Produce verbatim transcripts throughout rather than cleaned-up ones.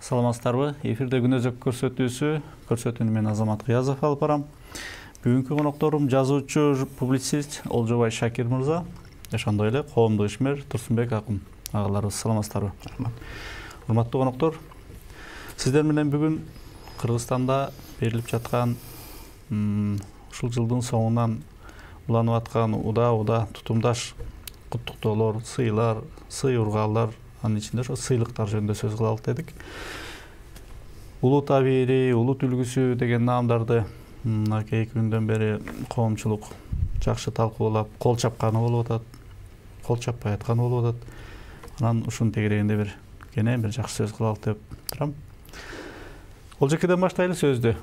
Саламатсыздарбы? Эфирде күн өзөк көрсөтүүсү, көрсөтүүнү мен Азамат Кыязов алып барам. Бүгүнкү конокторум жазуучу, публицист Олжобай Шакир мырза, ошондой эле коомдук ишмер Турсунбек Акын агаларыбыз. Саламатсыздарбы? Урматтуу коноктор, сиздер менен бүгүн Кыргызстанда берилип жаткан ушул жылдын соңунан уланып аткан уда-уда тутумдаш куттуктоолор, сыйлар, сый ургаалар, анын ичинде ошо сыйлыктар жөнүндө сөз кылалык дедик. Улут абийири, улут үлгүсү деген наамдарды эки күндөн бери коомчулук жакшы талкуулап, кол чапканы болуп атат, кол чаппай атканы болуп атат. Анан ушунун тегерегинде бир кене бир жакшы сөз кылалык деп турам. Олжекеден баштайлы сөздү.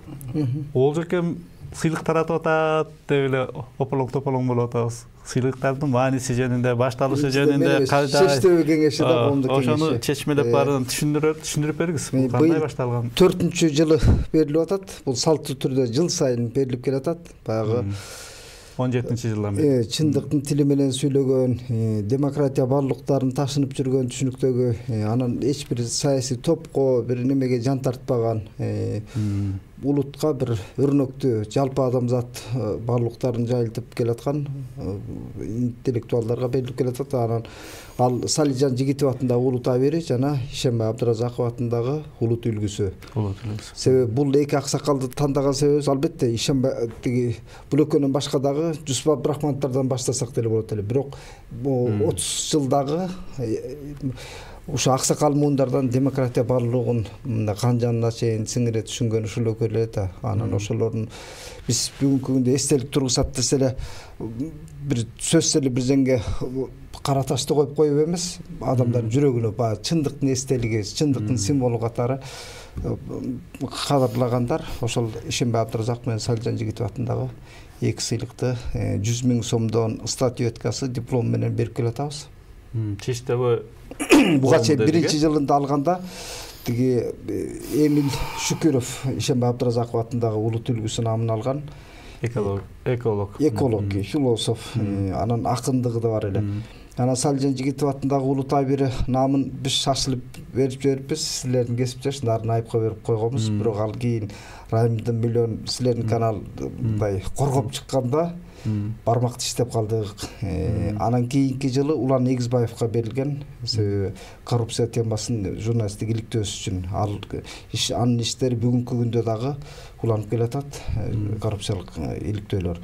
Олжекем сыйлык таратып атат деп эле ополоң-тополоң болуп атабыз. Сыйлыктардын мааниси жөнүндө, башталышы жөнүндө кандай чечтөө кеңеши да коомдук кеңеши. Ошону чечмелеп баарын түшүндүрүп, түшүндүрүп бериңиз. Кандай башталган? төртүнчү жылы берилип атат. Бул салттуу түрдө жыл сайын берилип келатат. Баягы он жетинчи жылдан бери. Чындыктын тили менен сүйлөгөн, демократия барлыктарын ташынып жүргөн түшүнүктөгү, анан эч бир саясий топко, бир немеге жан тартпаган, улутка бир өрнөктүү, жалпы адамзат барлыктарын жайылтып келаткан интеллектуалдарга берилип келатат. Анан ал Салижан Жигитов атындагы улут абийири жана Ишенбай Абдыразаков атындагы улут үлгүсү. Себеби бул эки аксакалды тандаган себебибиз албетте Ишенбай тиги бул экөөнөн башка дагы Жусуп Абдрахмановдордон баштасак деле болот эле. Бирок отуз жылдагы ушу аксакал муундардан демократия барлыгын мындай кан жанына чейин сиңире түшүнгөн ушул экөө эле да. Анан ошолордун биз бүгүнкү күндө эстелик тургузат десе эле бир сөзсүз эле бир жерге кара ташты коюп коюп эмес, адамдардын жүрөгүнө баягы чындыктын эстелиги, чындыктын символу катары кадырлагандар ошол Ишенбай Абдыразаков менен Салижан Жигитов атындагы эки сыйлыкты жүз миң сомдон статуэткасы, диплом менен берип келатабыз. Чечтеби буга чейин биринчи жылында алганда тиги Эмил Шүкүров Ишенбай Абдыразаков атындагы улут үлгүсү наамын алган. Эколог, эколог, эколог, философ, анан акындыгы да бар эле. Анан Салижан Жигитов атындагы улут абийири наамын биз шашылып берип жибериппиз. Силердин кесиптешиңердин айыпка берип койгонбуз. Бирок ал кийин Райымдын миллион силердин канал мындай коргоп чыкканда бармак тиштеп калдык. Анан кийинки жылы Улан Эгизбаевка берилген. Себеби коррупция темасын журналисттик иликтөөсү үчүн. Ал анын иштери бүгүнкү күндө дагы уланып келатат, коррупциялык иликтөөлөр.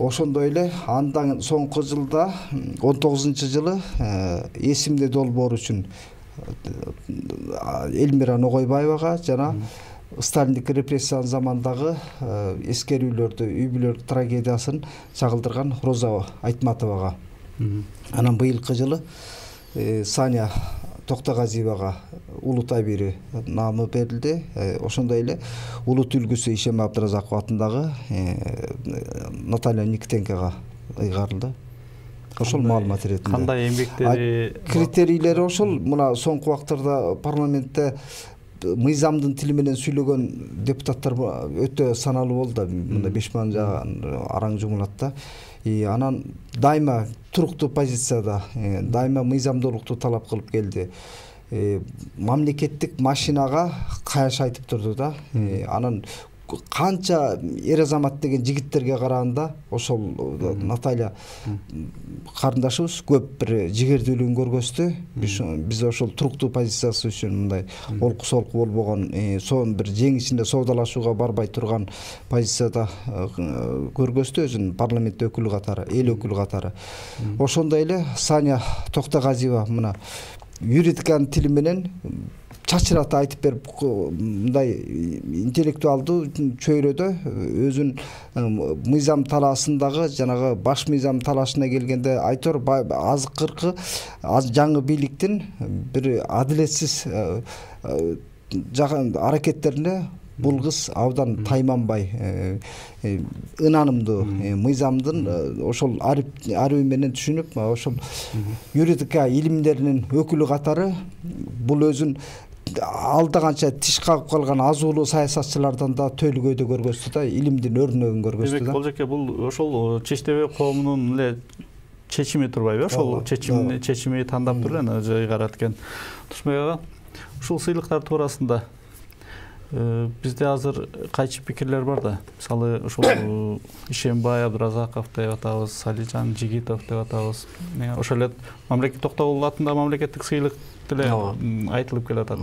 Ошондой эле андан соңку жылда он тогузунчу жылы эсимде долбоор үчүн Элмира Ногойбаевага жана Сталиндик репрессиянын замандагы эскерүүлөрдү, үй бүлөлүк трагедиясын чагылдырган Роза Айтматовага. Анан быйылкы жылы Саня Токтогазиевага улут абийири наамы берилди. Ошондой эле улут үлгүсү Ишенбай Абдыразаков атындагы Наталья Никитенкага ыйгарылды. Ошол маалымат иретинде. Кандай эмгектери, критерийлери ошол. Мына соңку убактарда парламентте мыйзамдын тили менен сүйлөгөн депутаттар өтө саналуу болду да. Мында беш миң жаган араң жумулат да. Анан дайыма туруктуу позицияда, дайыма мыйзамдуулукту талап кылып келди. Мамлекеттик машинага каяш айтып турду да. Анан канча эр азамат деген жигиттерге караганда ошол Наталья карындашыбыз көп бир жигердүүлүгүн көргөздү. Биз ошол туруктуу позициясы үчүн мындай олку солку болбогон, сонун бир жеңишинде соодалашууга барбай турган позицияда көргөздү өзүн парламент өкүлү катары, эл өкүлү катары. Ошондой эле Саня Токтогазиева мына юридиканын тили менен чачырата айтып берип, мындай интеллектуалдуу чөйрөдө өзүн мыйзам талаасындагы жанагы баш мыйзам талашына келгенде айтор азкыркы жаңы бийликтин бир адилетсиз аракеттерине бул кыз абдан тайманбай, ынанымдуу мыйзамдын ошол арыйы менен түшүнүп, ошол юридика илимдеринин өкүлү катары бул өзүн алда канча тиш кагып калган азуулуу саясатчылардан да төлгөйдө көргөздү да, илимдин өрнөгүн көргөздү да. Демек, Болжеке, бул ошол чечтебе коомунун эле чечими турбайбы? Ошол чечимди чечими тандап туруп эле ыйгарат экен. Турсунбек ага, ушул сыйлыктар туурасында бизде азыр кайчы пикирлер бар да. Мисалы ушул Ишембай Абдыразаков деп атабыз, Салижан Жигитов деп атабыз. Ошол эле мамлекет Токтогул атындагы мамлекеттик сыйлык деле айтылып келатат.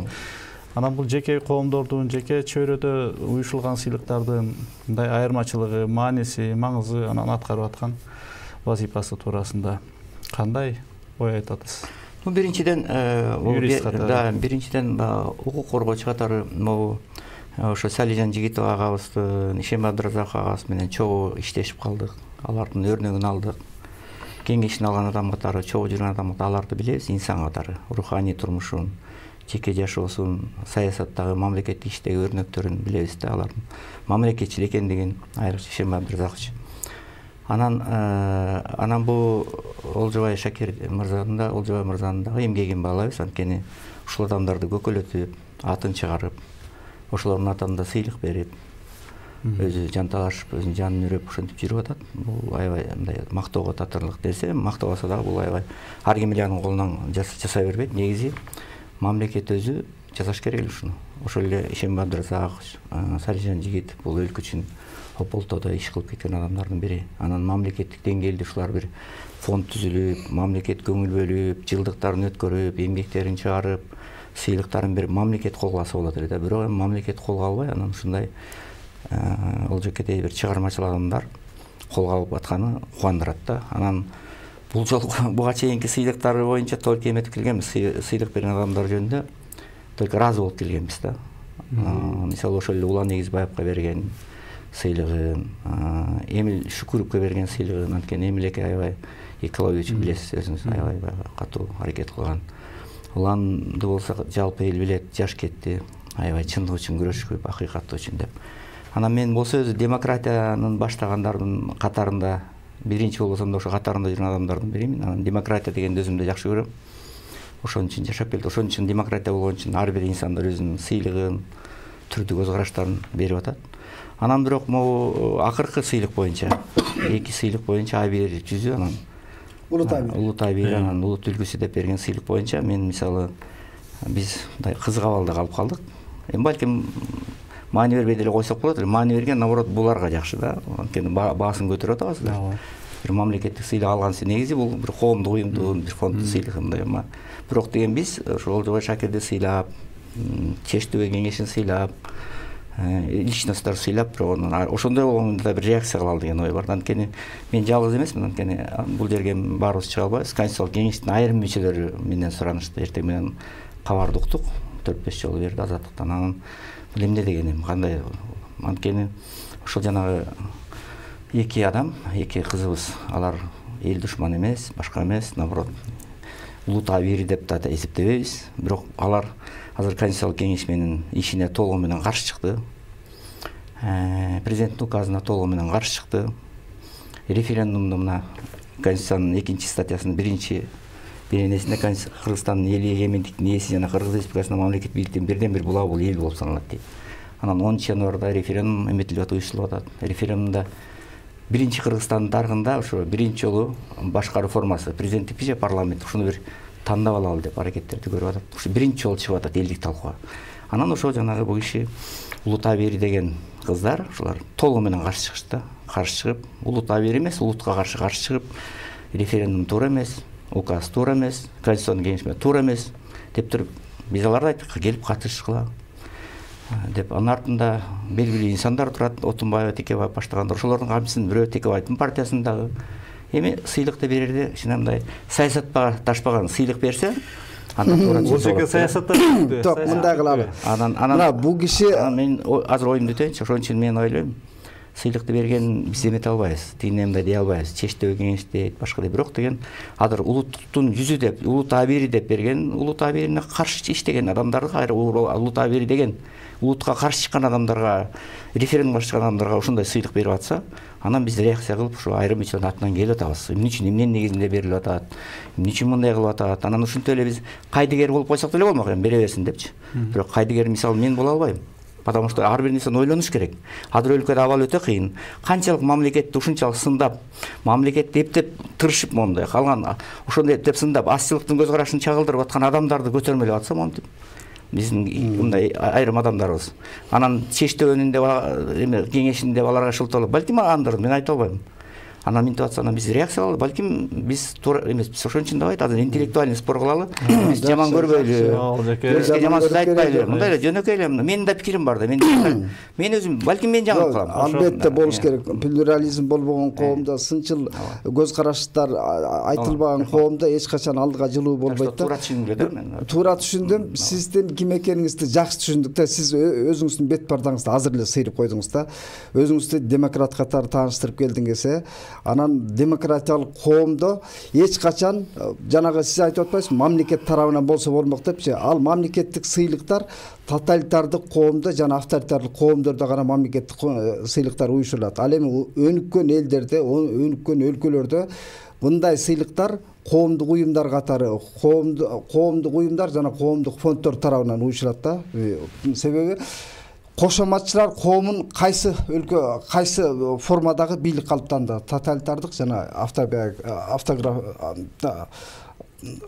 Анан бул жеке коомдордун, жеке чөйрөдө уюшулган сыйлыктардын мындай айырмачылыгы, мааниси, маңызы, анан аткарып аткан вазифасы туурасында кандай ой айтасыз? Ну, биринчиден, да, биринчиден укук коргоочу катары могу ошо Салижан Жигитов агабыздын, Ишембай Абдыразаков агабыз менен чогуу иштешип калдык. Алардын өрнөгүн алдык. Кеңешин алган адам катары, чогуу жүргөн адам катары аларды билебиз, инсан катары, руханий турмушун, жеке жашоосун, саясаттагы, мамлекеттик иштеги өрнөктөрүн билебиз да, алардын мамлекетчил экендигин, айрыкча Ишембай Абдыразакович. Анан анан бул Олжобай Шакир мырзанын да, Олжобай мырзанын дагы эмгегин баалайбыз. Анткени ушул адамдарды көкөлөтүп, атын чыгарып, ошолордун атында сыйлык берип, өзү жанталашып, өзүнүн жанын үрөп ошентип жүрүп атат. Бул аябай мындай мактоого татырлык нерсе. Мактабаса дагы бул аябай ар ким эле анын колунан жасай бербейт. Негизи мамлекет өзү жасаш керек эле ушуну. Ошол эле Ишембай Абдыразакович, Салижан Жигитов бул өлкө үчүн Ополтодо иш кылып кеткен адамдардын бири. Анан мамлекеттик деңгээлде ушулар бир фонд түзүлүп, мамлекет көңүл бөлүп, жылдыктарын өткөрүп, эмгектерин чыгарып, сыйлыктарын берип, мамлекет колго алса болот эле да. Бирок эми мамлекет колго албай, анан ушундай Олжокедей бир чыгармачыл адамдар колго алып атканы кубандырат да. Анан бул жолу буга чейинки сыйлыктары боюнча только эметип келгенбиз, сыйлык берген адамдар жөнүндө только разы болуп келгенбиз да. Мисалы ошол эле Улан Эгизбаевка берген сыйлыгын, Эмил Шүкүрүвгө берген сыйлыгын, анткени Эмил эке аябай экология үчүн билесиз, өзүңүз аябай катуу аракет кылган. Уланды болсо жалпы эл билет, жаш кетти, аябай чындык үчүн күрөшүп, акыйкат үчүн деп. Анан мен болсо өзү демократиянын баштагандардын катарында, биринчи болбосом да ошо катарында жүргөн адамдардын биримин. Анан демократия дегенди өзүм да жакшы көрөм. Ошон үчүн жашап келди. Ошон үчүн демократия болгон үчүн ар бир инсандар өзүнүн сыйлыгын, түрдүү көз караштарын берип атат. Анан бирок могу акыркы сыйлык боюнча, эки сыйлык боюнча А бир жүзү, анан Улутай бир, анан Улут үлгүсү деп берген сыйлык боюнча мен мисалы биз мындай кызык абалда калып калдык. Эми балким маани бербей деле койсок болот эле. Маани берген наоборот буларга жакшы да. Анткени баасын көтөрүп атабыздар. Бир мамлекеттик сыйлык алгансы негизи бул бир коомдук уюмдун, бир фонддун сыйлыгы мындай эми. Бирок деген биз ошо Олжобай Шакирди сыйлап, Чечтөбө кеңешин сыйлап, личносттор сыйлап, бирок ошондой болгондо бир реакция кылалы деген ой бар. Анткени мен жалгыз эмесмин, анткени бул жерге баарыбыз чыга албайбыз. Конституциялык кеңештин айрым мүчөлөрү менден суранышты. Эртең менен кабарды уктук, төрт беш жолу берди Азаттыктан. Анан бул эмне дегеним, кандай? Анткени ошол жанагы эки адам, эки кызыбыз, алар эл душман эмес, башка эмес, наоборот улут абийири деп да эсептебейбиз. Бирок алар азыр Конституциялык кеңеш менен ишине толугу менен каршы чыкты. Президенттин указына толугу менен каршы чыкты. Референдумду мына Конституциянын экинчи статьясынын биринчи беренесинде Кыргызстандын эл эгемендиктин ээси жана Кыргыз Республикасынын мамлекеттик бийликтин бирден бир булагы бул эл болуп саналат дейт. Анан онунчу январда референдум эметилип атып, уюштурулуп атат. Референдумда биринчи Кыргызстандын тарыхында ошо биринчи жолу башкаруу формасы, президенттик же парламент, ушуну бир тандап алалы деп аракеттерди көрүп атат. Ушу биринчи жолу чыгып атат элдик талкууга. Анан ошо жанагы бул киши Улут Абийири деген кыздар, ушулар толугу менен каршы чыгышты. Каршы чыгып, Улут Абийири эмес, улутка каршы каршы чыгып, референдум туура эмес, указ туура эмес, Конституциялык кеңеш туура эмес деп туруп, биз аларды айттык, келип катышкыла деп. Анын артында белгилүү инсандар турат, Отунбаева, Текебаев баштагандар. Ошолордун камчысын бирөө Текебаевдин партиясындагы. Эми сыйлыкты берерде кичине мындай саясатка ташпаган сыйлык берсе, андан туура чыгып. Ошол саясатта Ток, мындай кылалы. Анан анан бул киши мен азыр оюмду айтайынчы, ошон үчүн мен ойлойм, сыйлыкты берген биз эмете албайбыз, тигине мындай дей албайбыз. Чечтөбө кеңеш дейт, башка дейт. Бирок деген азыр улуттуктун жүзү деп, Улут Абийири деп берген, Улут Абийирине каршы иштеген адамдарды, кайра Улут Абийири деген улутка каршы чыккан адамдарга, референдумга чыккан адамдарга ушундай сыйлык берип атса, анан биз реакция кылып ушу айрым үчүн атынан келип атабыз. Эмне үчүн, эмненин негизинде берилип атат, эмне үчүн мындай кылып атат. Анан ушинтип эле биз кайдыгер болуп койсок деле болмок, эми бере берсин депчи. Бирок кайдыгер мисалы мен боло албайм. Потому что ар бир инсан ойлонуш керек. Азыр өлкөдө абал өтө кыйын. Канчалык мамлекетти ушунчалык сындап, мамлекетти эптеп тырышып мондай калган, ошондой эптеп сындап, азчылыктын көз карашын чагылдырып аткан адамдарды көтөрмөлөп атса монтип. биздин мындай айрым адамдарыбыз. Анан чечтөөнүндө эме кеңешинде аларга шылтоолоп, балким андыр, мен айта албайм. Анан минтип атса, анан биз реакция алалы, балким биз туура эмеспиз. Ошон үчүн давай азыр интеллектуальный спор кылалы. Биз жаман көрбөйлү. Бизге жаман сөз айтпайлы. Мындай эле жөнөкөй эле. Менин да пикирим бар да. Мен мен өзүм балким мен жаңылык кылам. Албетте болуш керек. Плюрализм болбогон коомдо, сынчыл көз караштар айтылбаган коомдо эч качан алдыга жылуу болбойт да. Туура түшүндүм да мен. Туура түшүндүм. Сиздин ким экениңизди жакшы түшүндүк да. Сиз өзүңүздүн бет бардыңызды азыр эле сыйрып койдуңуз да. Өзүңүздү демократ катары тааныштырып келдиңиз. Анан демократиялык коомдо эч качан жанагы сиз айтып атпайсызбы, мамлекет тарабынан болсо болмок депчи. Ал мамлекеттик сыйлыктар тоталитардык коомдо жана авторитардык коомдордо гана мамлекеттик сыйлыктар уюшурулат. Ал эми өнүккөн элдерде, өнүккөн өлкөлөрдө мындай сыйлыктар коомдук уюмдар катары, коомдук уюмдар жана коомдук фонддор тарабынан уюшурат да. Себеби кошоматчылар коомун кайсы өлкө, кайсы формадагы бийлик калыптанды, тоталитардык жана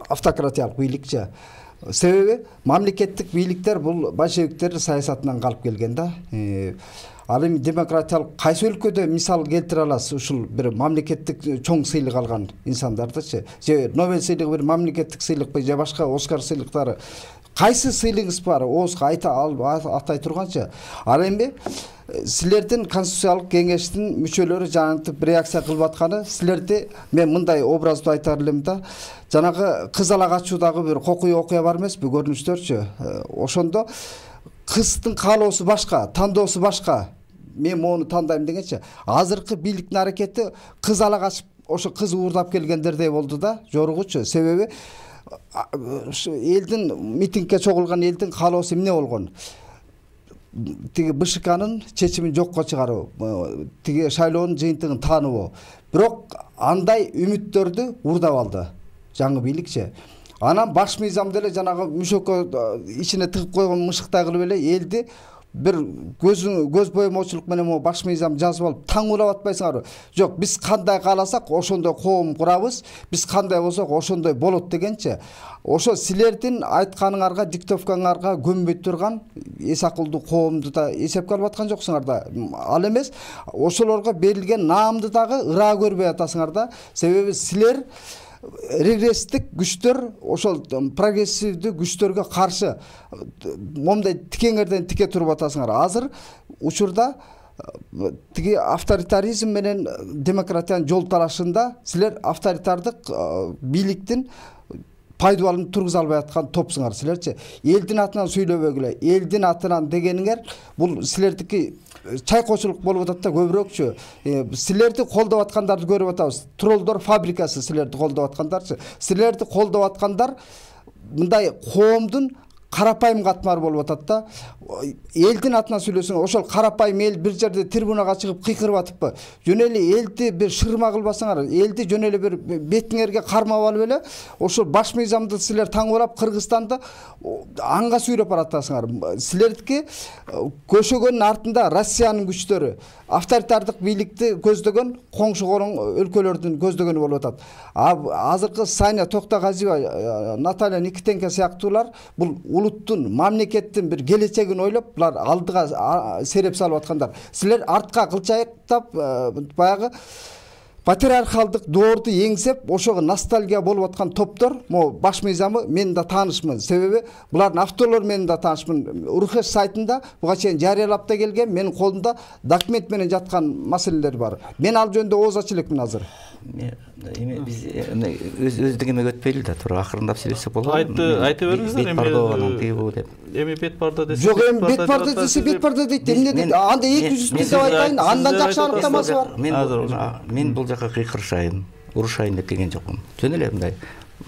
автократиялык бийликчи. Себеби мамлекеттик бийликтер бул большевиктер саясатынан калып келген да. Ал эми демократиялык кайсы өлкөдө мисал келтире аласыз ушул бир мамлекеттик чоң сыйлык алган инсандардычы? Же Нобель сыйлыгы бир мамлекеттик сыйлыкпы, же башка Оскар сыйлыктары? Кайсы сыйлыгыңыз бар? Оозго айта атай турганчы. Ал эми силердин конституциялык кеңештин мүчөлөрү жанагынтип реакция кылып атканы, силерди мен мындай образды айтар элем да. Жанагы кыз ала качуудагы бир кокуй окуя бар эмеспи, көрүнүштөрчү. Ошондо кыздын каалоосу башка, тандоосу башка. Мен мону тандайм дегенчи. Азыркы бийликтин аракети кыз ала качып, ошо кыз уурдап келгендердей болду да, жоругучу. Себеби элдин митингге чогулган элдин каалоосу эмне болгон? Тиги БШКнын чечимин жокко чыгаруу, тиги шайлоонун жыйынтыгын тааныбоо. Бирок андай үмүттөрдү уурдап алды жаңы бийликчи. Анан баш мыйзам деле жанагы мүшөккө ичине тыгып койгон мышыктай кылып эле элди бир көзүн көз боемоочулук менен могу баш мыйзам жазып алып таң улап атпайсыңарбы? Жок, биз кандай кааласак ошондой коом курабыз, биз кандай болсок ошондой болот дегенчи. Ошо силердин айтканыңарга, диктовкаңарга көнбөй турган эс акылдуу коомду да эсепке алып аткан жоксуңар да. Ал эмес, ошолорго берилген наамды дагы ыраа көрбөй атасыңар да. Себеби силер регресстик күчтөр, ошол прогрессивдүү күчтөргө каршы момундай тикеңерден тике туруп атасыңар. Азыр учурда тиги авторитаризм менен демократиянын жол талашында силер авторитардык бийликтин пайдубалын тургуза албай аткан топсуңар силерчи. Элдин атынан сүйлөбөгүлө, элдин атынан дегениңер бул силердики чайкоочулук болуп атат да көбүрөөкчү. Силерди колдоп аткандарды көрүп атабыз. Троллдор фабрикасы силерди колдоп аткандарчы. Силерди колдоп аткандар мындай коомдун карапайым катмары болуп атат да. Элдин атынан сүйлөсөң, ошол карапайым эл бир жерде трибунага чыгып кыйкырып атыппы? Жөн эле элди бир шырма кылбасаңар, элди жөн эле бир бетиңерге кармап алып эле, ошол баш мыйзамды силер таңуулап Кыргызстанды анга сүйрөп баратасыңар. Силердики көшөгөнүн артында Россиянын күчтөрү, авторитардык бийликти көздөгөн коңшу коруң өлкөлөрдүн көздөгөнү болуп атат. Азыркы Саня Токтогазиева, Наталья Никитенко сыяктуулар бул улуттун, мамлекеттин бир келечегин ойлоп, булар алдыга сереп салып аткандар. Силер артка кылчайыктап, баягы патриархалдык доорду эңсеп, ошого ностальгия болуп аткан топтор, могу баш мыйзамы мен да таанышмын. Себеби булардын авторлору мен да таанышмын. Урхеш сайтында буга чейин жарыялап да келген, менин колумда документ менен жаткан маселелер бар. Мен ал жөнүндө ооз ача элекмин азыр. Эми биз өз өздүгүмө өтпөйлү да, туура акырындап сүйлөсөк болобу? Айтты, айта бериңиздер. Бет бардоо тиги бу деп. Эми бет бардо десе. Жок, эми бет бардо десе бет бардо дейт. Эмне дейт? Анда эки жүз деп айтайын, андан жакшы аныктамасы бар. Мен мен бул жака кыйкырышайын, урушайын деп келген жокмун. Жөн эле мындай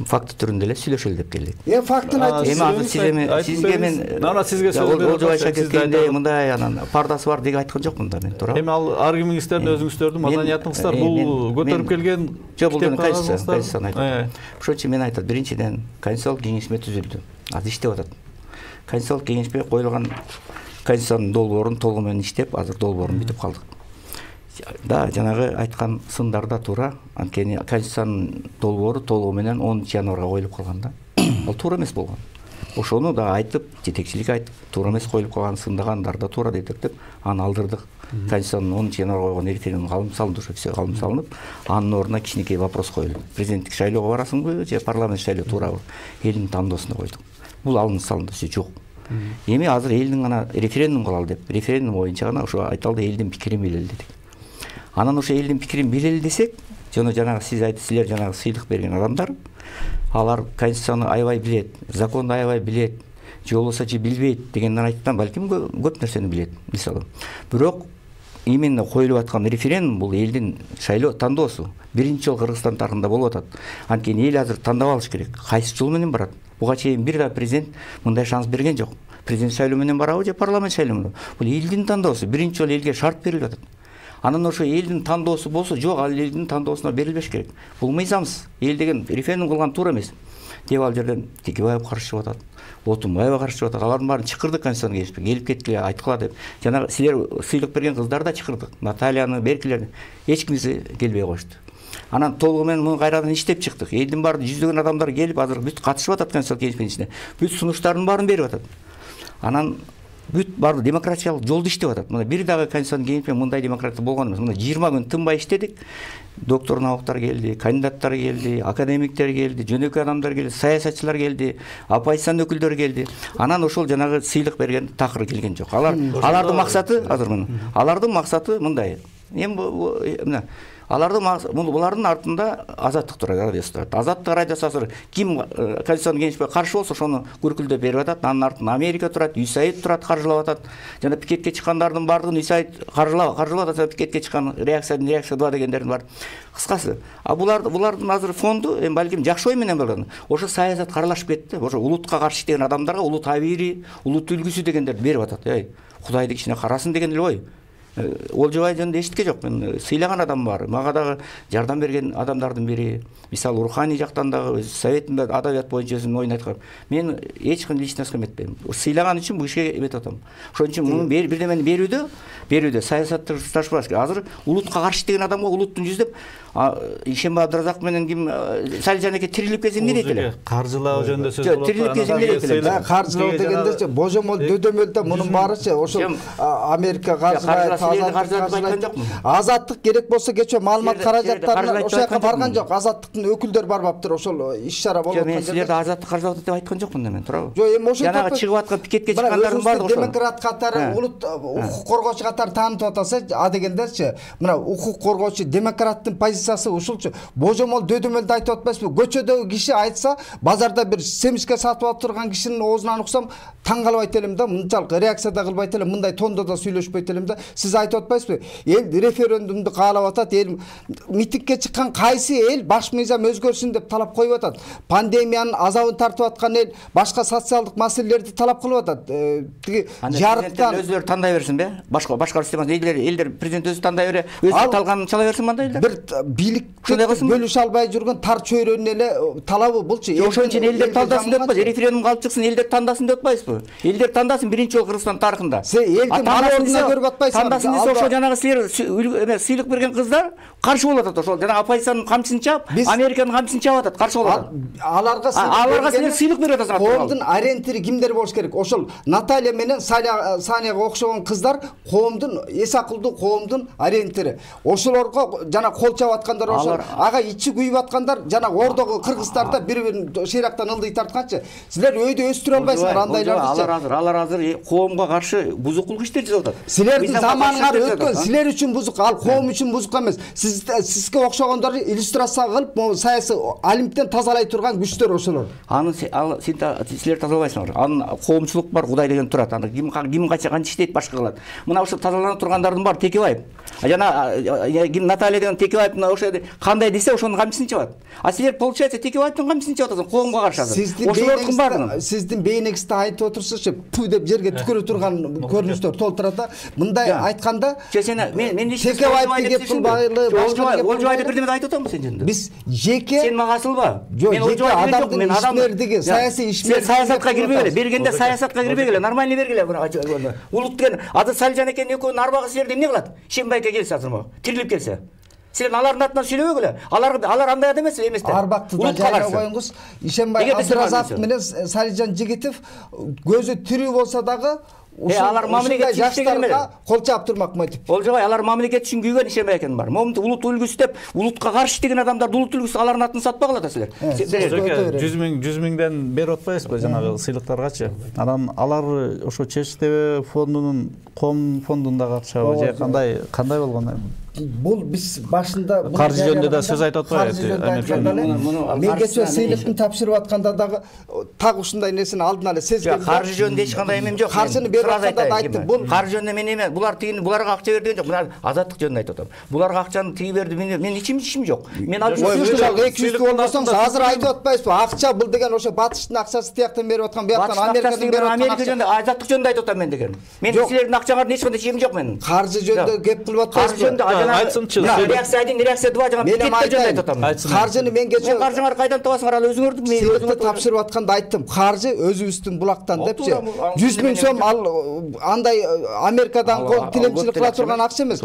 факт түрүндө эле сүйлөшөлү деп келдик. Э, фактын айтып. Эми азыр сиз сизге мен мына сизге сөз берип Олжобай Шакиркенде мындай анан пардасы бар деп айткан жокмун да мен, туура. Эми ал аргументиңиздерди өзүңүздөрдүн маданиятыңыздар бул көтөрүп келген жок, бул конституцияны айтат. Ошон үчүн мен айтат, биринчиден конституциялык кеңешме түзүлдү. Азыр иштеп атат. Конституциялык кеңешме коюлган конституциянын долбоорун толугу менен иштеп, азыр долбоорун бүтүп калдык. Да, жанагы айткан сындар да туура. Анткени конституциянын долбоору толугу менен онунчу январга коюлуп калган да. Ал туура эмес болгон. ошону да айтып, жетекчилик айтып, туура эмес коюлуп калган, сындыгандар да туура дедик деп аны алдырдык. Конституциянын онунчу январга койгон референдум калым салынды, ошо все калым салынып, анын ордуна кичинекей вопрос коюлду. Президенттик шайлоого барасыңбы же парламент шайлоо туурабы? Элдин тандоосуна койдук. Бул алынып салынды, все жок. Эми азыр элдин гана референдум кылалы деп, референдум боюнча гана ошо айталды, элдин пикирин билели дедик. Анан ошо элдин пикирин билели десек, жана жанагы сиз айтып, силер жанагы сыйлык берген адамдар, алар конституцияны аябай билет, законду аябай билет, же болбосо же билбейт дегенден айткан, балким көп нерсени билет, мисалы. Бирок именно коюлуп аткан референдум бул элдин шайлоо тандоосу. Биринчи жолу Кыргызстан тарыхында болуп атат. Анткени эл азыр тандап алыш керек. Кайсы жол менен барат? Буга чейин бир да президент мындай шанс берген жок. Президент шайлоо менен барабы же парламент шайлоо менен? Бул элдин тандоосу. Биринчи жолу элге шарт берилип атат. Анан ошо элдин тандоосу болсо, жок, ал элдин тандоосуна берилбеш керек. Бул мыйзамсыз. Эл деген референдум кылган туура эмес деп ал жерден Текебаев каршы чыгып атат. Отунбаева каршы чыгып атат. Алардын баарын чакырдык конституцияга келишпек. Келип кеткиле, айткыла деп. Жана силер сыйлык берген кыздар да чакырдык. Натальяны, Беркилерди эч кимиси келбей коюшту. Анан толугу менен муну кайрадан иштеп чыктык. Элдин баары жүздөгөн адамдар келип азыр бүт катышып атат конституциялык кеңештин ичине. Бүт сунуштардын баарын берип атат. Анан бүт баары демократиялык жолду иштеп атат. Мына бир дагы конституциянын кеңешинде мындай демократия болгон эмес. Мына жыйырма күн тынбай иштедик. Доктор науктар келди, кандидаттар келди, академиктер келди, жөнөкөй адамдар келди, саясатчылар келди, оппозициянын өкүлдөрү келди. Анан ошол жанагы сыйлык берген такыр келген жок. Алар алардын максаты азыр мына. Алардын максаты мындай. Эми мына алардын булардын артында Азаттык радиосу турат. Азаттык радиосу азыр ким конституциянын кеңешине каршы болсо ошону күркүлдөп берип атат. Анын артында Америка турат, үй Саид турат, каржылап атат. Жана пикетке чыккандардын баардыгын үй Саид каржылап, каржылап атат. Пикетке чыккан реакция один, реакция два дегендердин бар. Кыскасы, а булар булардын азыр фонду эми балким жакшы ой менен болгон. Ошо саясат каралашып кетти. Ошо улутка каршы иштеген адамдарга улут табири, улут үлгүсү дегендерди берип атат. Эй, Кудайды кичине карасын деген эле ой. Олжобай жөнүндө эчитке жок. Мен сыйлаган адам бар. Мага дагы жардам берген адамдардын бири. Мисалы руханий жактан дагы советинде адабият боюнча өзүнүн оюн айткан. Мен эч кандай личный эметпейм. Сыйлаган үчүн бул ишке эметип атам. Ошон үчүн муну бирдемени берүүдө, берүүдө саясатташтырбаш керек. Азыр улутка каршы деген адамга улуттун жүздөп Ишембай Абдыразаков менен ким Салижан эке тирилип келсе эмне дейт эле? Каржылоо жөнүндө сөз болот. Тирилип келсе эмне дейт эле? Каржылоо дегендечи божомол дөдөмөлдө мунун баарычы ошол Америка каржылайт. Азаттык керек болсо кечээ маалымат каражаттарына ошол жака барган жок. Азаттыктын өкүлдөрү барбаптыр, ошол иш-чара болуп аткан жерде. Мен силерди азаттык каржылап атат деп айткан жокмун мен, туурабы? Жок, эми ошол жанагы чыгып аткан пикетке чыккандардын баардыгы ошол. Демократ катары, улут укук коргоочу катары таанытып атаса, а дегендерчи, мына укук коргоочу демократтын позициясы ушулчу. Божомол дөдөмөлдү айтып атпайсызбы? Көчөдөгү киши айтса, базарда бир семишке сатып алып турган кишинин оозунан уксам, таң калбайт элем да, мынчалык реакция да кылбайт элем, мындай тондо да сүйлөшпөйт элем да. Сиз айтып атпайсызбы? Эл референдумду каалап атат, эл митингге чыккан кайсы эл баш мыйзам өзгөрсүн деп талап коюп атат. Пандемиянын азабын тартып аткан эл башка социалдык маселелерди талап кылып атат. Тиги жарыктан өзүлөрү тандай берсинби? Башка башкаруу системасы элдер элдер президент өзү тандай бере, өзү талганын чала берсин мындай элдер. Бир бийликти бөлүшө албай жүргөн тар чөйрөнүн эле талабы булчу. Ошон үчүн элдер талдасын деп атпайсыз, референдум калып чыксын, элдер тандасын деп атпайсызбы? Элдер тандасын биринчи жолу Кыргызстан тарыхында. Элдин мамордуна көрүп атпайсызбы? Тандасын десе ошо жанагы силер эме сыйлык берген кыздар каршы болуп атат. Ошол жана оппозициянын камчысын чаап, Американын камчысын чаап атат, каршы болуп атат. Аларга аларга силер сыйлык берип атасыңар. Коомдун ориентири кимдер болуш керек? Ошол Наталья менен Саняга окшогон кыздар коомдун эс акылдуу коомдун ориентири. Ошолорго жана кол чаап аткандар ошол. Ага ичи күйүп аткандар жана ордогу кыргыздарда бири-бирин шыйрактан ылдый тартканчы. Силер өйдө өстүрө албайсыңар андайларды. Алар азыр алар азыр коомго каршы бузукулук иштер жасап атат. Силердин заманыңар өткөн, силер үчүн бузук, ал коом үчүн бузук эмес. Сиз сизге окшогондор иллюстрация кылып, могу саясий алимден тазалай турган күчтөр ошолор. Аны силер тазалабайсыңар. Анын коомчулук бар, Кудай деген турат. Аны ким ким канча канча иштейт, башка кылат. Мына ошо тазаланып тургандардын баары Текебаев. Жана Наталья деген Текебаев ошо кандай десе ошонун камчысын чабат. А силер получается Текебаевдин камчысын чабат атасың коомго каршы азыр. Ошолордун баардыгы сиздин бейнеңизди айтып отурсузчу, пу деп жерге түкүрө турган көрүнүштөр толтурат да. Мындай айтканда, мен мен Текебаевди кеп кылбайлы, Олжобайды бирдеме айтып атамбы сен жөнүндө? Биз жеке сен мага асылба. Мен Олжобайды жок, мен адамдардыгы, саясий ишмер. Саясатка кирбегиле, бергенде саясатка кирбегиле, нормальный бергиле. Улут деген азыр Салижан экенин экөөнүн арбагы силерди эмне кылат? Ишенбай эке келсе азыр могу тирилип келсе. Силер алардын атынан сүйлөбөгүлө. Алар алар андай адам эмес эмес да. Арбакты да жайга коюңуз. Ишенбай Абдыразаков менен Салижан Жигитов көзү тирүү болсо дагы алар мамлекет жаштарга кол чаап турмак мотив. Олжобай, алар мамлекет үчүн күйгөн Ишенбай экен бар. Момунту улут үлгүсү деп, улутка каршы иштеген адамдарды улут үлгүсү алардын атын сатпагыла да силер. жүз миң жүз миңден берип атпайсызбы жанагы сыйлыктаргачы? Анан алар ошо ЧСТВ фондунун Коом фондунда катышабы же кандай кандай болгон? Бул биз башында каржы жөнүндө да сөз айтып атпайбы? Мен кечээ сыйлыктын тапшырып атканда дагы так ушундай нерсени алдын эле сезгем. Каржы жөнүндө эч кандай эмем жок. Каржыны берип атканда да айттым. Бул каржы жөнүндө мен эме, булар тигини буларга акча берди деген жок. Мен азаттык жөнүндө айтып атам. Буларга акчаны тиги берди, мен ичим ишим жок. Мен алып эки жүз болбосоң азыр айтып атпайсызбы? Акча бул деген ошо батыштын акчасы тияктан берип аткан, бияктан Америкадан берип аткан. Америка жөнүндө, азаттык жөнүндө айтып атам мен деген. Мен силердин акчаңардын эч кандай ишим жок менин. Каржы жөнүндө кеп кылып атпайсызбы? Айтсынчы. Реакция один, реакция два жана мен айтып атам. Каржыны мен кечээ каржыңар кайдан табасыңар, ал өзүңөрдүн мен өзүмө тапшырып атканда айттым. Каржы өзүбүздүн булактан депчи. жүз миң сом ал андай Америкадан тилемчилик кыла турган акча эмес.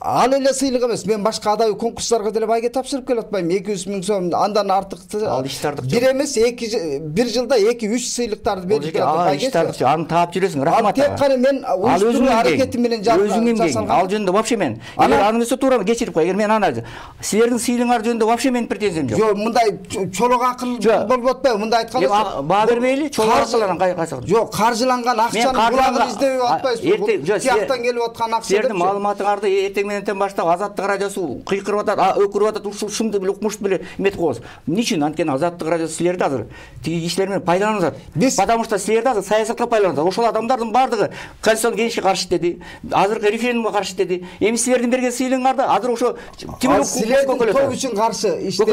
Ал эле сыйлык эмес. Мен башка адабий конкурстарга деле байге тапшырып келип атпайм. эки жүз миң сом андан артык. Ал иштардык жок. Бир эмес, эки бир жылда эки үч сыйлыктарды берип келип байге. Аны таап жүрөсүң, рахмат. Ал тек кана мен уюштуруу аракети менен жасалган. Ал жөнүндө вообще мен. Эгер анысы туура кечирип кой. Эгер мен аны силердин сыйлыгыңар жөнүндө вообще менин претензиям жок. Жок, мындай чолок акыл болуп атпайбы? Мындай айтканыңыз. Баа бербейли, чолок акылдан кайсак. Жок, каржыланган акчаны булагын издеп атпайсызбы? Тияктан келип аткан акча. Силердин маалыматыңарды эртең менен баштап Азаттык радиосу кыйкырып атат, өкүрүп атат, ушул шымды биле укмуш биле эметип коебуз. Эмне үчүн? Анткени Азаттык радиосу силерди азыр тиги кишилер менен пайдаланып атат. Потому что силерди азыр саясатка пайдаланып атат. Ошол адамдардын бардыгы Конституцион кеңешке каршы деди, азыркы референдумга каршы деди. Эми силердин берген сыйлыгыңарды азыр ошо силердин топ үчүн каршы иштеп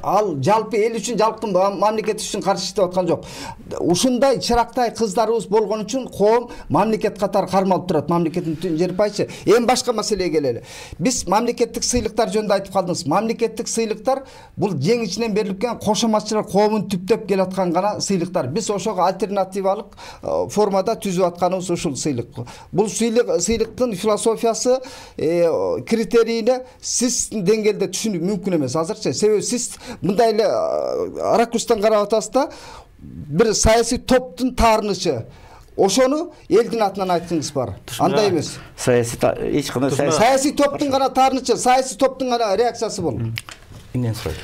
ал жалпы эл үчүн, жалпы мамлекет үчүн каршы иштеп аткан жок. Ушундай чырактай кыздарыбыз болгон үчүн коом мамлекет катары кармалып турат. Мамлекеттин жерпайчы. Эми башка маселеге келели. Биз мамлекеттик сыйлыктар жөнүндө айтып калдыңыз. Мамлекеттик сыйлыктар бул ең ичинен берилип келген кошоматчылар коомун түптөп келаткан гана сыйлыктар. Биз ошого альтернативалык формада түзүп атканыбыз ушул сыйлык. Бул сыйлыктын философиясы, критерийине сиз деңгээлде түшүнүү мүмкүн эмес азырчы. Себеби сиз мындай эле ракурстан карап атасыз да, бир саясий топтун таарынычы. Ошону элдин атынан айткыңыз бар. Андай эмес. Саясий эч кандай саясий топтун гана таарынычы, саясий топтун гана реакциясы бол. Эмнен сурайт?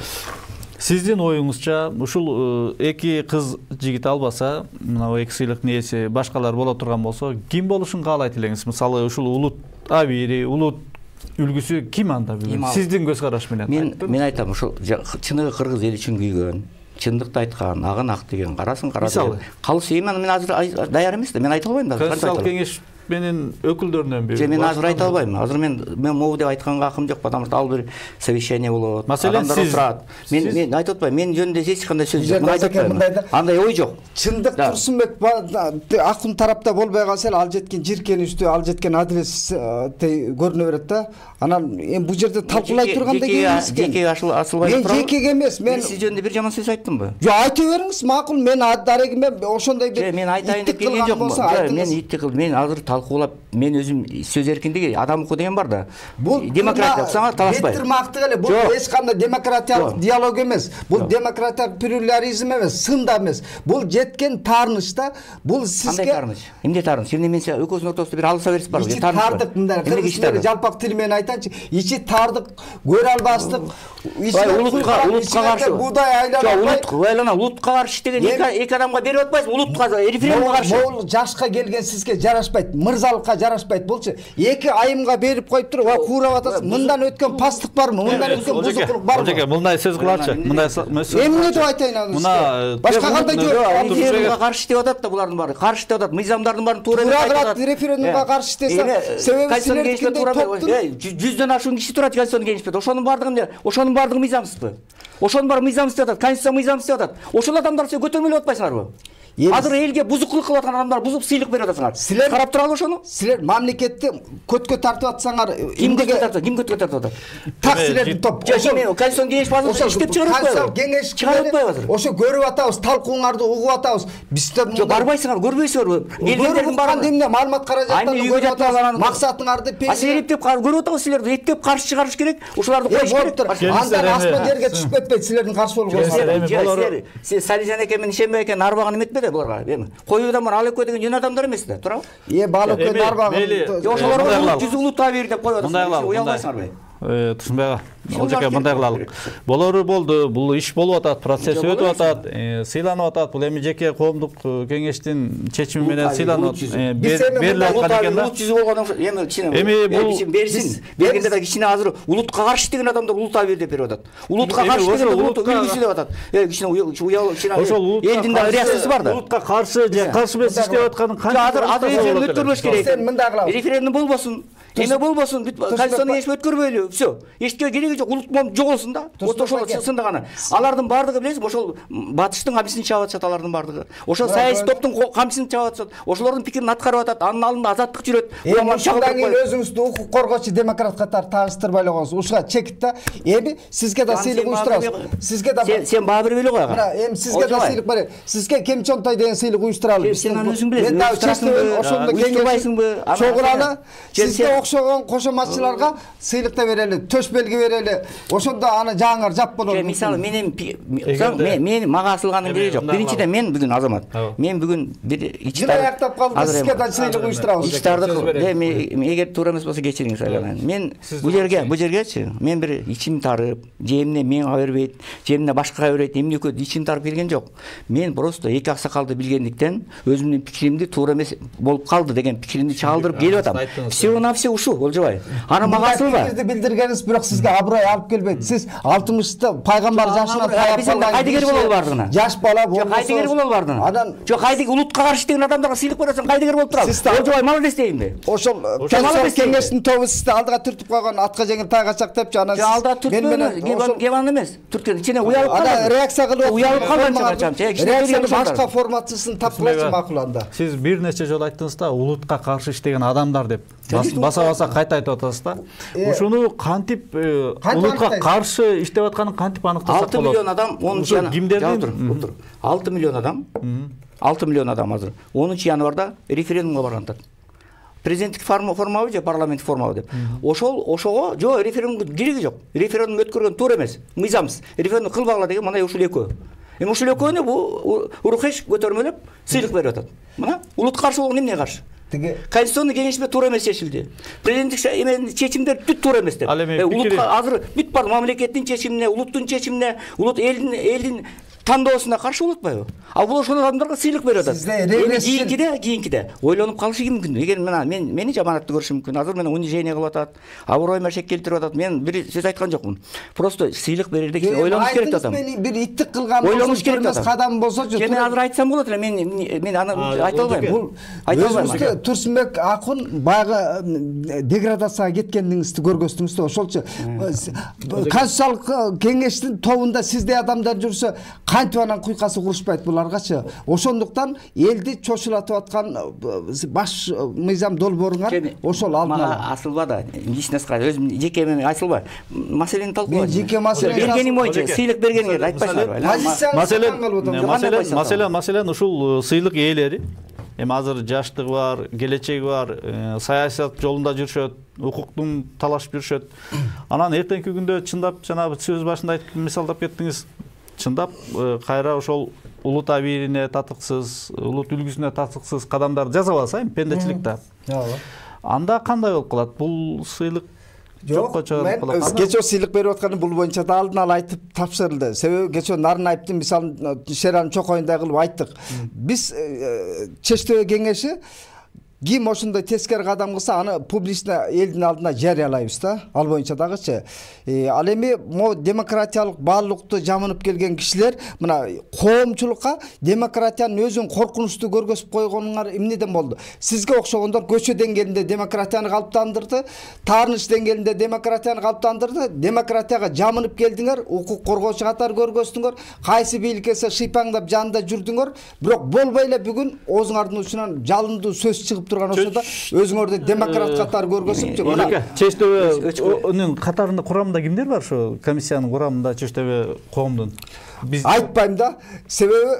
Сиздин оюңузча ушул эки кыз жигит албаса, мына эки сыйлыктын ээси башкалар боло турган болсо, ким болушун каалайт элеңиз? Мисалы ушул улут абийири, улут үлгүсү ким анда бүгүн? Сиздин көз караш менен. Мен мен айтам, ушул чыныгы кыргыз эли үчүн күйгөн, чындыкты айткан, агын ак деген, карасын кара деген. Калысы эми мен азыр даяр эмес да, мен айта албайм да. Конституциялык кеңеш менин өкүлдөрүнөн бири. Же мен азыр айта албайм. Азыр мен мен могу деп айтканга акым жок, потому что ал бир совещание болот. Адамдар отурат. Мен мен айтып атпайм. Мен жөнүндө эч кандай сөз жок. Мен айтып атпайм. Андай ой жок. Чындык Турсунбек акын тарапта болбой калса, ал жеткен жиркеничтүү, ал жеткен адилетсиз көрүнө берет да. Анан эми бул жерде талкуулай турганда кийинбиз. Жеке ашылбай турат. Мен жекеге эмес, мен сиз жөнүндө бир жаман сөз айттымбы? Жок, айта бериңиз, макул. Мен дарегиме ошондой бир мен айтайын деп келген жокмун. Мен итти кылдым. Мен азыр талкуулап, мен өзүм сөз эркиндиги, адам укугу деген бар да. Бул демократия саңар талашпай. Бетирмактык эле. Бул эч кандай демократиялык диалог эмес. Бул демократиялык плюрализм эмес, сында эмес. Бул жеткен таарынычта, бул сизге кандай таарыныч? Эмне таарыныч? Эмне мен экөөсүнүн ортосунда бир алыса берип барбы? Ичи тардык, мындай кыргыз жалпак тил менен айтайынчы. Ичи тардык, көрө албастык. Улутка, улутка каршы. Будай айланып, улутка айлана, улутка каршы деген эки адамга берип атпайсыз, улутка референдумга каршы. Бул жашка келген сизге жарашпайт, мырзалыкка жарашпайт болчу. Эки айымга берип коюп туруп, ва куурап атасыз. Мындан өткөн пастык барбы? Мындан өткөн бузукулук барбы? Ожеке, мындай сөз кылачы. Мындай эмне деп айтайын аны? Мына башка кандай жол? Референдумга каршы деп атат да булардын баары. Каршы деп атат. Мыйзамдардын баарын туура деп атат. Референдумга каршы десе, себеби силердин топтун жүздөн ашуун киши турат Конституцион кеңеште. Ошонун баардыгы, ошонун баардыгы мыйзамсызбы? Ошонун баары мыйзамсыз деп атат. Конституция мыйзамсыз деп атат. Ошол адамдар сен көтөрмөлөп атпайсыңарбы? Азыр элге бузукулук кылып аткан адамдар бузуп сыйлык берип атасыңар. Силер карап туралы ошону? Силер мамлекетти көткө тартып атсаңар, ким көткө тартат? Ким көткө тартып атат? Так силердин топ. Ошо Конституцион кеңеш базасы иштеп чыгарып атпайбы? Кеңеш чыгарып атпайбы азыр? Ошо көрүп атабыз, талкууңарды угуп атабыз. Бизде жок барбайсыңар, көрбөйсүңөр. Келгендердин баары эмне маалымат каражаттарын көрүп атабыз. Максатыңарды А силер эптеп көрүп атабыз, силерди эптеп каршы чыгарыш керек. Ошоларды коюш керек. Анда асман жерге түшүп кетпейт, силердин каршы болгонуңар. Силер Салижан экен менен Ишенбек экен арбаган эметпеди буларга? Эми коюудан бар ал экөө деген жөн адамдар эмес да, туурабы? Е, бал экөө арбаган. Ошолорго жүз улуттаа бир деп коюп атасыңар. Уялбайсыңарбы? Турсунбек ага, Олжеке мындай кылалык. Болору болду, бул иш болуп атат, процесс өтүп атат, сыйланып атат. Бул эми жеке коомдук кеңештин чечими менен сыйланып берилип аткан экен да. Улут жүзү болгондон эми кичине эми бул берсин. Бергенде да кичине азыр улутка каршы деген адамдар улуттаа бер деп берип атат. Улутка каршы деген улут үлгүсү деп атат. Э кичине уял кичине элдин да реакциясы бар да. Улутка каршы же каршы эмес иштеп атканын канча азыр азыр референдум өткөрбөш керек. Сен мындай кылабыз. Референдум болбосун. Эме болбосун, Конституцияны кеңеш өткөрбөйлү. Всё. Эчке кереги жок, улут болуп жоголсун да. Ошол чынында гана. Алардын бардыгы билесизби, ошол батыштын камчысын чаап атышат алардын бардыгы. Ошол саясий топтун камчысын чаап атышат. Ошолордун пикирин аткарып атат. Анын алдында азаттык жүрөт. Ошондон кийин өзүңүздү укук коргоочу демократ катары тааныстырбай эле коңуз. Ушуга чекит да. Эми сизге да сыйлык уюштурабыз. Сизге да сен баа бербей эле кой ага. Мына эми сизге да сыйлык берет. Сизге Кем Чонтой деген сыйлык уюштуралы. Сен аны өзүң билесиң. Мен дагы чечтим, ошондо уюштурбайсыңбы? Чогураны сизге окшогон кошоматчыларга сыйлык да берели, төш белги берели. Ошондо аны жаңыңар жап болот. Мисалы мен мен мен мага асылганын кереги жок. Биринчиден мен бүгүн Азамат. Мен бүгүн бир ичтар аяктап калды, сизге да сыйлык уюштурабыз. Ичтарды эми эгер туура эмес болсо кечириңиз айланайын. Мен бул жерге, бул жергечи мен бир ичим тарып, же эмне менга бербейт, же эмне башкага берет, эмне экөө ичим тарып келген жок. Мен просто эки аксакалды билгендиктен өзүмдүн пикиримди туура эмес болуп калды деген пикиримди чагылдырып келип атам. Всего на все ушу, Олжобай. Аны мага асылба. Сизди билдиргениңиз бирок сизге аброй алып келбейт. Сиз алтымышта пайгамбар жашына таяп калган. Кайдыгер болобу бардыгына? Жаш бала болбосо. Жок, кайдыгер болобу бардыгына? Анан жок, кайдыгер улутка каршы деген адамдарга сыйлык бересиң, кайдыгер болуп турабы? Олжобай молодец дейинби? Ошол кеңештин тобу сизди алдыга түртүп койгон, атка жеңил тайгачак депчи, анан алдыга түртпөйм, кебан эмес. Түрткөн ичине уялып калган. Ана реакция кылып, уялып калган чачам. Реакцияны башка форматысын тапкылачы макул анда. Сиз бир нече жолу айттыңыз да, улутка каршы иштеген адамдар деп. Баса-баса кайта айтып атасыз да. Ушуну кантип улутка каршы иштеп атканын кантип аныктасак болот? алты миллион адам онунчу январда. алты миллион адам. алты миллион адам азыр. онунчу январда референдумга барган атат. Президенттик формабы же парламенттик формабы деп. Ошол ошого жок, референдумга кереги жок. Референдум өткөргөн туура эмес. Мыйзамсыз. Референдум кылбагыла деген мындай ушул экөө. Эми ушул экөөнү бу урухеш көтөрмөлөп сыйлык берип атат. Мына улут каршы болгон эмне каршы? Конституционный кеңеште туура эмес чечилди. Президенттик эменин чечимдери бүт туура эмес деп. Улутка азыр бүт бар мамлекеттин чечимине, улуттун чечимине, улут элдин элдин тандоосуна каршы болуп атпайбы? А бул ошол адамдарга сыйлык берип атат. Эми кийинкиде, кийинкиде ойлонуп калышы мүмкүн. Эгер мына мен мени жаманатты көрүшү мүмкүн. Азыр мени унижение кылып атат, аброюма шек келтирип атат. Мен бир сөз айткан жокмун. Просто сыйлык берерде ойлонуш керек атам. Мен бир иттик кылган ойлонуш керек атам. Кадам болсочу. Мен азыр айтсам болот эле, мен мен аны айта албайм. Бул айта албайм. Турсунбек акун баягы деградацияга кеткениңизди көргөздүңүз да, ошолчу. Конституциялык кеңештин тобунда сиздей адамдар жүрсө кантип анан куйкасы курушпайт буларгачы. Ошондуктан элди чочулатып аткан баш мыйзам долбооруңар ошол алдын ала. Асылба да, личностька өзүм жеке мен асылба. Маселени талкуулайт. Мен жеке маселени бергеним боюнча сыйлык бергениңерди айтпайсыңарбы? Маселен, маселен, маселен ушул сыйлык ээлери эми азыр жаштыгы бар, келечеги бар, саясат жолунда жүрүшөт, укуктун талашып жүрүшөт. Анан эртеңки күндө чындап жанагы сөз башында айтып мисалдап кеттиңиз. Чындап кайра ошол улут абийирине татыксыз, улут үлгүсүнө татыксыз кадамдар жасап алса, эми пендечиликте. Анда кандай болуп калат? Бул сыйлык жокко чыгарып калат. Мен кечөө сыйлык берип атканы бул боюнча да алдын ала айтып тапшырылды. Себеби кечөө Нарынаевдин мисалын Шеран чокоюндай кылып айттык. Биз чечтөө кеңеши ким ошондой тескери кадам кылса аны публично элдин алдына жарыялайбыз да. Ал боюнча дагычы. Ал эми могу демократиялык баалуулукту жамынып келген кишилер мына коомчулукка демократиянын өзүн коркунучтуу көргөзүп койгонуңар эмнеден болду? Сизге окшогондор көчө деңгээлинде демократияны калыптандырды, таарыныч деңгээлинде демократияны калыптандырды, демократияга жамынып келдиңер, укук коргоочу катары көргөздүңөр, кайсы бийлик келсе шыйпаңдап жанында жүрдүңөр, бирок болбой эле бүгүн оозуңардын учунан жалындуу сөз чыгып турган ошодо өзүңөрдү демократ катары көргөзүп, мына чечтөбөнүн катарында курамында кимдер бар ошо комиссиянын курамында чечтөбө коомдун? Биз айтпайм да. Себеби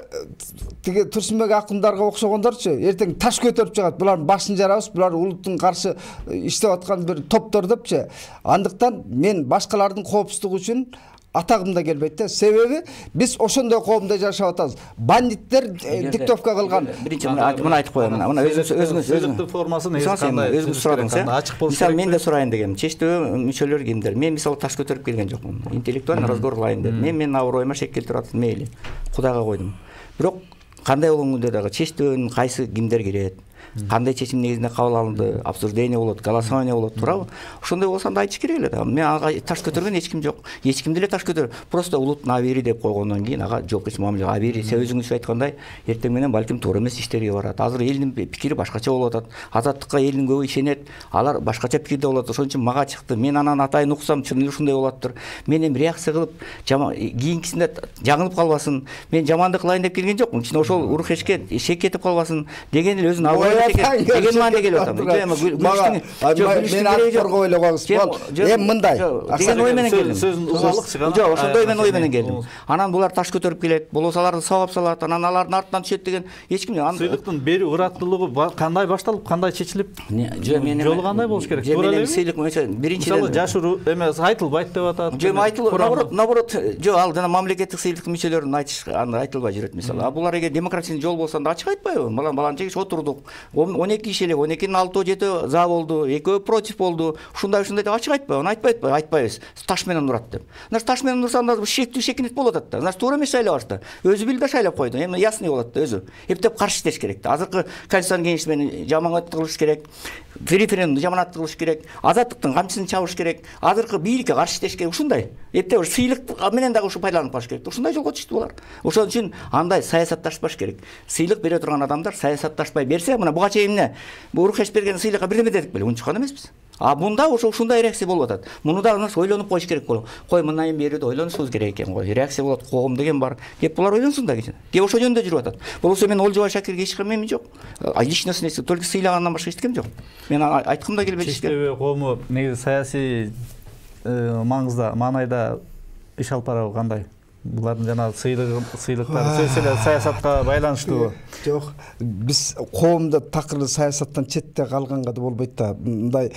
тиги Турсунбек акындарга окшогондорчу эртең таш көтөрүп чыгат. Булардын башын жарабыз, булар улуттун каршы иштеп аткан бир топтор депчи. Андыктан мен башкалардын коопсуздугу үчүн атагым да келбейт да. Себеби биз ошондой коомдо жашап атабыз. Бандиттер диктовка кылган. Биринчи муну айтып коеюн. Мына өзүңүз өзүңүз өзүңүз формасын өзүңүз сурадыңыз, э? Мисалы мен да сурайын дегем. Чечтөө мүчөлөр кимдер? Мен мисалы таш көтөрүп келген жокмун. Интеллектуальный разговор кылайын дедим. Мен менин аброюма шек келтирип атат, мейли. Кудайга койдум. Бирок кандай болгондо дагы чечтөөнүн кайсы кимдер кирет? Кандай чечим негизинде кабыл алынды, обсуждение болот, голосование болот, туурабы? Ошондой болсо анда айтыш керек эле да. Мен ага таш көтөргөн эч ким жок. Эч ким деле таш көтөр. Просто улуттун абийири деп койгондон кийин ага жоопкерчилик мамиле абийири. Сиз өзүңүз айткандай, эртең менен балким туура эмес иштерге барат. Азыр элдин пикири башкача болуп атат. Азаттыкка элдин көбү ишенет. Алар башкача пикирде болот. Ошон үчүн мага чыкты. Мен анан атайын уксам, чын эле ушундай болоптур. Мен эми реакция кылып, кийинкисинде жаңылып калбасын. Мен жамандык кылайын деп келген жокмун. Чын ошол урухешке шек кетип калбасын деген эле өзүнүн аброюна деген маанде келип атам. Мен ак коргоо эле коебуз. Эми мындай. Деген ой менен келдим. Сөзүн угалык чыган. Жок, ошондой мен ой менен келдим. Анан булар таш көтөрүп келет, болбосо аларды сабап салат, анан алардын артынан түшөт деген эч ким. Сыйлыктын берүү ыраттуулугу кандай башталып, кандай чечилип? Жолу кандай болуш керек? Туура эле сыйлык биринчиден мисалы жашыруу эмес айтылбайт деп атат. Жок, айтылбайт. Наоборот, наоборот, жок, ал жана мамлекеттик сыйлыктын мүчөлөрүн айтыш аны айтылбай жүрөт мисалы. А булар эгер демократиянын жолу болсо анда ачык айтпайбы? Балан баланча киши отурдук. он эки киши эле, он экинин алтөө жетөө за болду, экөө против болду. Ушундай ушундай деп ачык айтпайбы? Аны айтпайт, айтпайбыз. Таш менен урат деп. Значит, таш менен урса анда шектүү шекинет болуп атат да. Значит, туура эмес шайлап атат да. Өзү билди да шайлап койду. Эми ясный болот да өзү. Эптеп каршы иштеш керек да. Азыркы Конституциянын кеңешмени жаманат кылыш керек. Референдумду жаманат кылыш керек. Азаттыктын камчысын чабыш керек. Азыркы бийликке каршы иштеш керек. Ушундай. Эптеп сыйлык менен дагы ушу пайдаланып калыш керек. Ушундай жолго түштү булар. Ошон үчүн андай саясатташпаш керек. Сыйлык бере турган адамдар саясатташпай берсе, мына буга чейин эмне? Бу урухеш берген сыйлыкка бирдеме дедик беле? Унчуккан эмеспиз. А мында ошо ушундай реакция болуп атат. Муну да ойлонуп коюш керек болот. Кой мындай берүүдө ойлонушубуз керек экен го. Реакция болот, коом деген бар. Кеп булар ойлонсун да кече. Кеп ошол жөнүндө жүрүп атат. Болбосо мен Олжобай Шакирге эч ким жок. Личностный только сыйлагандан башка эч ким жок. Мен айткым да келбейт эчке. Чечтөбө коому негизи саясий маңызда, маанайда иш алып барабы кандай? Булардын жана сыйлык сыйлыктары сөзсүз эле саясатка байланыштуу. Жок, биз коомдо такыр саясаттан четте калганга да болбойт да. Мындай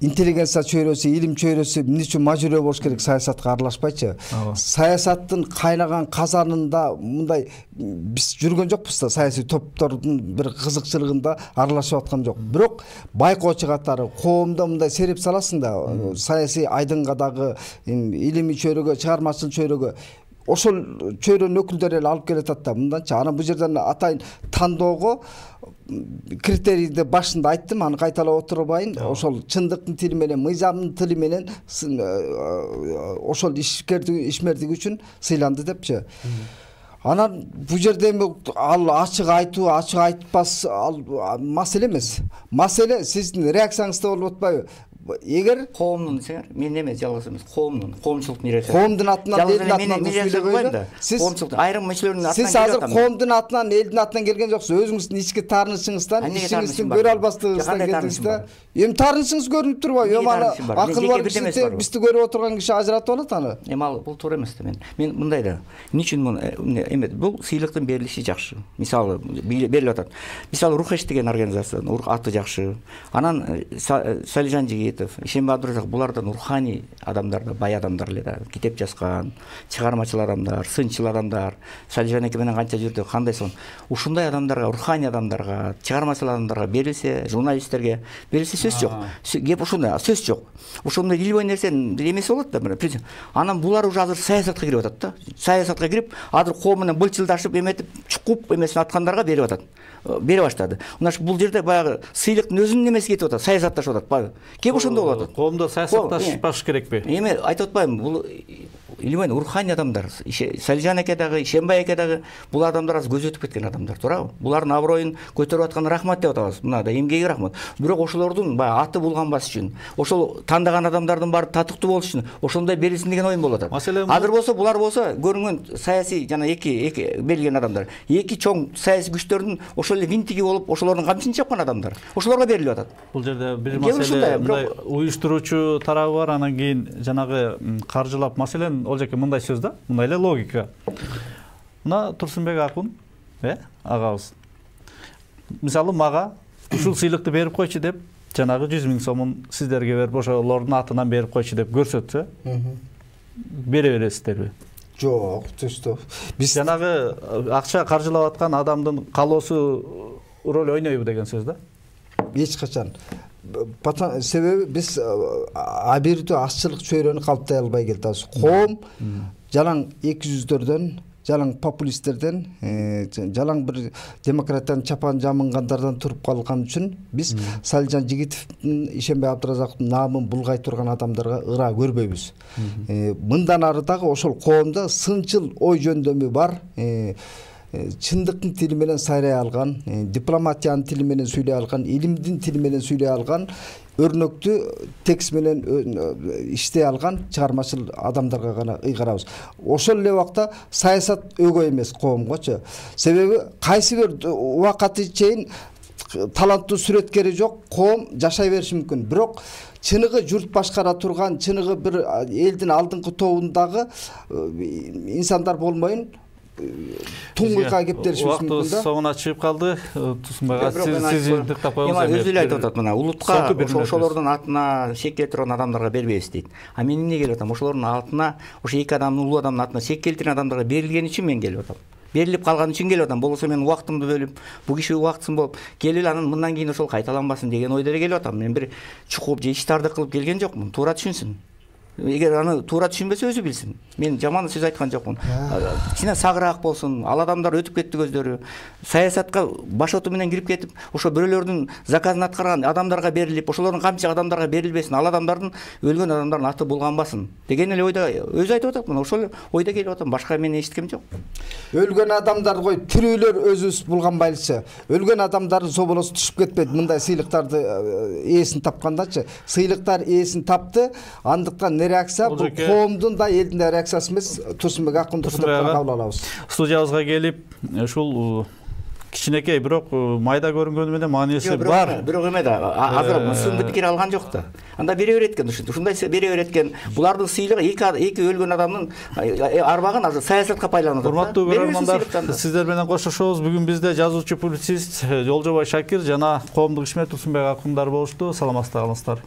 интеллигенция чөйрөсү, илим чөйрөсү эмне үчүн мажбүрөө болуш керек саясатка аралашпайчы? Саясаттын кайнаган казанында мындай биз жүргөн жокпуз да, саясий топтордун бир кызыкчылыгында аралашып аткан жок. Бирок байкоочу катары коомдо мындай сереп саласың да, саясий айдынга дагы, илимий чөйрөгө, чыгармачыл чөйрөгө ошол чөйрөнүн өкүлдөрү эле алып келатат да. Мынданча анан бул жерден атайын тандоого критерийди башында айттым, аны кайталап отурбайын. Ошол чындыктын тили менен, мыйзамдын тили менен ошол ишкердиги, ишмердиги үчүн сыйланды депчи. Анан бул жерде ал ачык айтуу, ачык айтпас ал маселе эмес. Маселе сиздин реакцияңызда болуп атпайбы? Эгер коомдун десеңер, мен эмес, жалгыз эмес, коомдун, коомчулуктун реакциясы. Коомдун атынан, элдин атынан сүйлөгөйдү. Коомчулук айрым мүчөлөрүнүн атынан. Сиз азыр коомдун атынан, элдин атынан келген жоксуз. Өзүңүздүн ички таарынычыңыздан, ишиңиздин көрө албастыгыңыздан келдиңиз да. Эми таарынычыңыз көрүнүп турбайбы? Эми аны акыл бар киши бизди көрүп отурган киши ажыратып алат аны. Эми ал бул туура эмес да мен. Мен мындай да. Эмне үчүн муну эме бул сыйлыктын берилиши жакшы. Мисалы берилип атат. Мисалы Рухеш деген организация, аты жакшы. Анан Салижан жигит Ахметов, Ишенбай Абдыразаков булардан руханий адамдар да, бай адамдар эле да, китеп жазган, чыгармачыл адамдар, сынчыл адамдар. Салижан эке менен канча жүрдү, кандай сон. Ушундай адамдарга, руханий адамдарга, чыгармачыл адамдарга берилсе, журналисттерге берилсе сөз жок. Кеп ушундай, сөз жок. Ошондой ил бой нерсенин эмеси болот да, мына. Анан булар уже азыр саясатка кирип атат да. Саясатка кирип, азыр ком менен былчылдашып, эметип, чукуп эмесин аткандарга берип атат. Бере баштады. Мына бул жерде баягы сыйлыктын өзүнүн эмеси кетип атат, саясатташып атат. Баягы кеп ошондой болуп атат. Коомдо саясатташпаш керекпи? Эме айтып атпаймынбы, бул илимен руханий адамдар. Салижан эке дагы, Ишенбай эке дагы бул адамдар аз көзөтүп кеткен адамдар, туурабы? Булардын аброюн көтөрүп аткан рахмат деп атабыз. Мына да эмгеги рахмат. Бирок ошолордун баягы аты булганбас үчүн, ошол тандаган адамдардын баары татыктуу болуш үчүн ошондой берилсин деген оюм болуп атат. Азыр болсо булар болсо көрүнгөн саясий жана эки эки берилген адамдар, эки чоң саясий күчтөрдүн ошол эле винтиги болуп, ошолордун камчысын чапкан адамдар. Ошолорго берилип атат. Бул жерде бир маселе, мындай уюштуруучу тарабы бар, анан кийин жанагы каржылап, маселен Олжеке мындай сөз да, мындай эле логика. Мына Турсунбек акун, э, агабыз. Мисалы мага ушул сыйлыкты берип койчу деп, жанагы жүз миң сомун сиздерге берип, ошолордун атынан берип койчу деп көрсөтсө, бере бересиздерби? Жок, түстө. Биз жанагы акча каржылап аткан адамдын каалоосу роль ойнойбу деген сөз да? Эч качан. Себеби биз абийирдүү азчылык чөйрөнү калптай албай келатабыз. Коом жалаң эки жүздөрдөн, жалаң популисттерден, жалаң бир демократиянын чапан жамынгандардан туруп калган үчүн биз Салижан Жигитовдун, Ишенбай Абдыразаковдун наамын булгай турган адамдарга ыра көрбөйбүз. Мындан ары дагы ошол коомдо сынчыл ой жөндөмү бар, чындыктын тили менен сайрай алган, дипломатиянын тили менен сүйлөй алган, илимдин тили менен сүйлөй алган, өрнөктүү текст менен иштей алган чыгармачыл адамдарга гана ыйгарабыз. Ошол эле убакта саясат өгөй эмес коомгочу. Себеби кайсы бир убакытты чейин таланттуу сүрөткери жок коом жашай бериши мүмкүн. Бирок чыныгы журт башкара турган, чыныгы бир элдин алдыңкы тобундагы инсандар болмойн туңгуйга кептелишибиз мүмкүн да. Убактыбыз соңуна чыгып калды. Тусунбайга сиз диктап коюңуз. Эми өзү эле айтып атат, мына улутка ошолордун атына чек келтирген адамдарга бербейбиз дейт. А мен эмне келип атам? Ошолордун атына, ошо эки адамдын, улуу адамдын атына чек келтирген адамдарга берилген үчүн мен келип атам. Берилип калган үчүн келип атам. Болбосо мен убактымды бөлүп, бул киши убактысын болуп, келип анан мындан кийин ошол кайталанбасын деген ойдо эле келип атам. Мен бир чукуп же иштарды кылып келген жокмун. Туура түшүнсүн. Эгер аны туура түшүнбөсө өзү билсин. Мен жаман сөз айткан жокмун. Кичине сагыраак болсун. Ал адамдар өтүп кетти көздөрү. Саясатка башоту менен кирип кетип, ошо бирөөлөрдүн заказын аткарган адамдарга берилип, ошолордун камчы адамдарга берилбесин. Ал адамдардын, өлгөн адамдардын аты булганбасын деген эле ойдо өзү айтып атат. Мына ошол ойдо келип атам. Башка мен эчиткем жок. Өлгөн адамдар кой, тирүүлөр өзүбүз булганбайлычы. Өлгөн адамдардын соболосу түшүп кетпейт. Мындай сыйлыктарды ээсин тапкандачы. Сыйлыктар ээсин тапты. Андыктан реакция бул коомдун да элдин да реакциясы эмес. Турсунбек акунду кабыл алабыз. Студиябызга келип, ушул кичинекей бирок майда көрүнгөнү менен мааниси бар. Бирок эме да, азыр сынды пикир алган жок да. Анда бере берет экен, ушундай бере берет экен. Булардын сыйлыгы эки өлгөн адамдын арбагын азыр саясатка байланып атат. Урматтуу көрөрмандар, сиздер менен коштошобуз. Бүгүн бизде жазуучу, публицист Олжобой Шакир жана коомдук ишмер Турсунбек акундар болушту. Саламатсыздар.